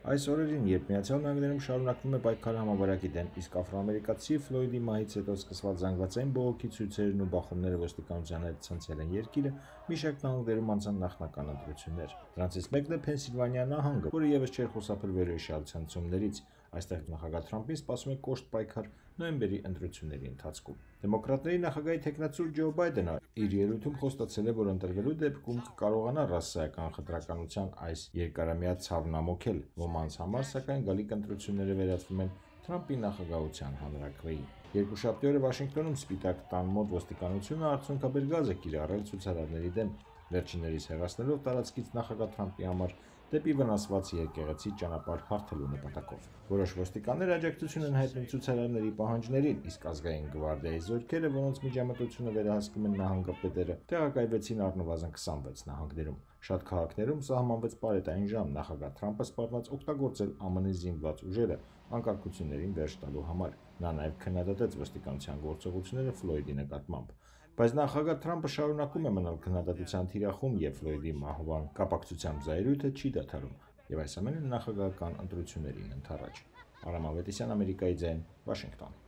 Այս օրերին, երբ Միացյալ Նահանգներում շարունակվում է պայքարը համավարակի դեմ, իսկ աֆրոամերիկացի Ֆլոյդի մահից հետո սկսված զանգվածային բողոքի ցույցերն ու բախումները ոստիկանության հետ ցնցել են երկիրը, մի շարք նահանգներում անցան նախնական ընտրություններ։ Դրանցից մեկն է Փենսիլվանիա նահանգը, որը եւս չէր խուսափել վերոհիշյալ ցնցումներից։ Այստեղ նախագահ Թրամփին սպասում է կոշտ պայքար նոյեմբերի ընտրությունների ընթացքում։ Դեմոկրատների նախագահի թեկնածու Ջո Բայդենը իր ելույթում խոստացել է, որ ընտրվելու դեպքում կկարողանա ռասայական խտրականության այս երկարամյա ցավն ամոթել։ Ոմանց համար, սակայն, գալիք ընտրությունները վերածվում են Թրամփի նախագահության հանրաքվեի։ Երկուշաբթի օրը Վաշինգտոնում Սպիտակ տան մոտ ոստիկանությունը արդյունքաբեր գազ է կիրառել ցուցարարների դեմ, վերջիններիս հեռացնելով տարածքից նախագահ Թրամփի համար դեպի վնասված եկեղեցի ճանապարհ հարթելու նպատակով։ Որոշ ոստիկաններ աջակցություն են հայտնում ցուցարարների պահանջներին, իսկ ազգային գվարդիայի զորքերը, որոնց միջամտությունը վերահսկում են նահանգապետերը, տեղակայվեցին առնվազն 26 նահանգներում։ Շատ քաղաքներում սահմանվեց պարետային ժամ նախագահ Թրամփը սպառնաց օգտագործել ԱՄՆ-ի զինված ուժերը անկարգություններին վերջ տալու համար։ Նա նաև քննադատեց ոստիկանության գործողությունները Ֆլոյդի նկատմամբ։ Բայց նախագահ Թրամփը շարունակում է մնալ քննադատության թիրախում եւ Ֆլոյդի մահվան կապակցությամբ զայրույթը չի դադարում, եւ այս ամենը նախագահական ընտրություններին ընդառաջ։ Արամ Ավետիսյան, Ամերիկայի ձայն, Վաշինգտոն։